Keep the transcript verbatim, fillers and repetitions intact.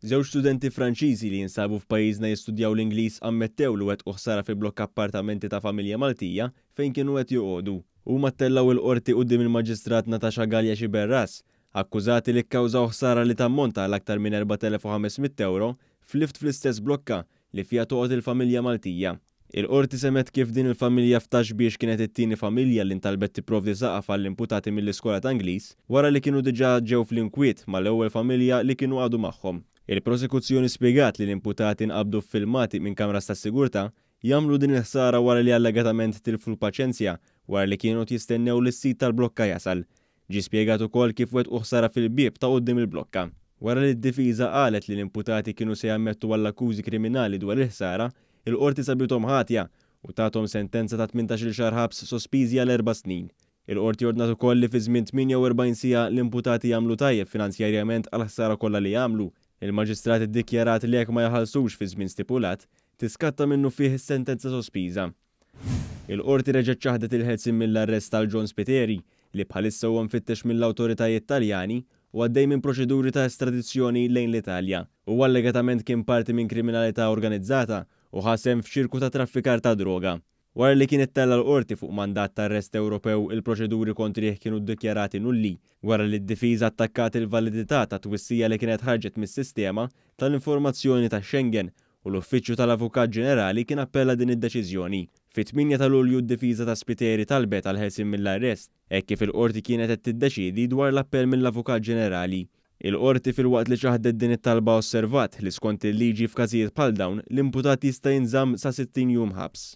Żewġ studenti Franċiżi li jinsabu f'pajjiżna jistudjaw l-Ingliż ammettew li wettqu ħsara fi blokka appartamenti ta' familja Maltija fejn kienu qed joqogħdu. Huma ttellgħu l-Qorti quddiem il-Maġistrat Natasha Galea Sciberras, akkużati li kkawżaw ħsara li tammonta għal aktar minn erbat elef u ħames mitt ewro f'lift fl-istess blokka li fiha toqgħod il-familja Maltija. Il-Qorti semgħet kif din il-familja f'Ta' Xbiex kienet it-tieni familja li ntalbet tipprovdi saqaf għall-imputati mill-iskola ta' Ingliż wara li kienu diġà ġew fl-inkwiet mal-ewwel familja li kienu qagħdu magħhom. Il-prosekuzzjoni spjegat li l-imputati nqabdu f'filmati minn kameras tas-sigurtà jagħmlu din il-ħsara wara li allegatament tilfu l-paċenzja wara li kienu qed jistennew li s-sid tal-blokka jasal. Ġie spjegat ukoll kif wettqu ħsara fil-bieb ta' quddiem il-blokka. Wara li d-difiża qalet li l-imputati kienu se jammettu għall-akkużi kriminali dwar il-ħsara, il-Qorti sabithom ħatja u tathom sentenza ta' tmintax-il xahar ħabs sospiżi għal erba' snin. Il-Qorti ordnat ukoll li fi żmien tmienja u erbgħin siegħa l-imputati jagħmlu tajjeb finanzjarjament għall-ħsara kollha li għamlu. Il-Maġistrat iddikjarat li jekk ma jħallsux fi żmien stipulat, tiskatta minnufih is-sentenza sospiża. Il-Qorti reġgħet ċaħdet il-ħelsien mill-arrest tal John Spiteri, li bħalissa huwa mfittex mill-awtoritajiet Taljani u għaddej minn proċeduri ta' estradizzjoni lejn l-Italja. Huwa allegatament kien parti minn kriminalità organizzata u ħa sehem f'ċirku ta' traffikar ta' droga. Wara li kien ittella' l-Qorti fuq mandat ta' arrest Ewropew, il-proċeduri kontrih kienu ddikjarati nulli wara li d-difiża attakkat il-validità ta' twissija li kienet ħarġet mis-sistema tal-informazzjoni ta' Schengen u l-Uffiċċju tal-Avukat Ġenerali kien appella din id-deċiżjoni. Fit-tmienja ta' Lulju d-difiża ta' Spiteri talbet għal ħelsien mill-arrest, hekk kif il-Qorti kienet qed tiddeċiedi dwar l-appell mill-Avukat Ġenerali. Il-Qorti filwaqt li ċaħdet din it-talba osservat li skont il-liġi f'każijiet bħal dawn l-imputat jista' jinżamm sa sittin jum ħabs.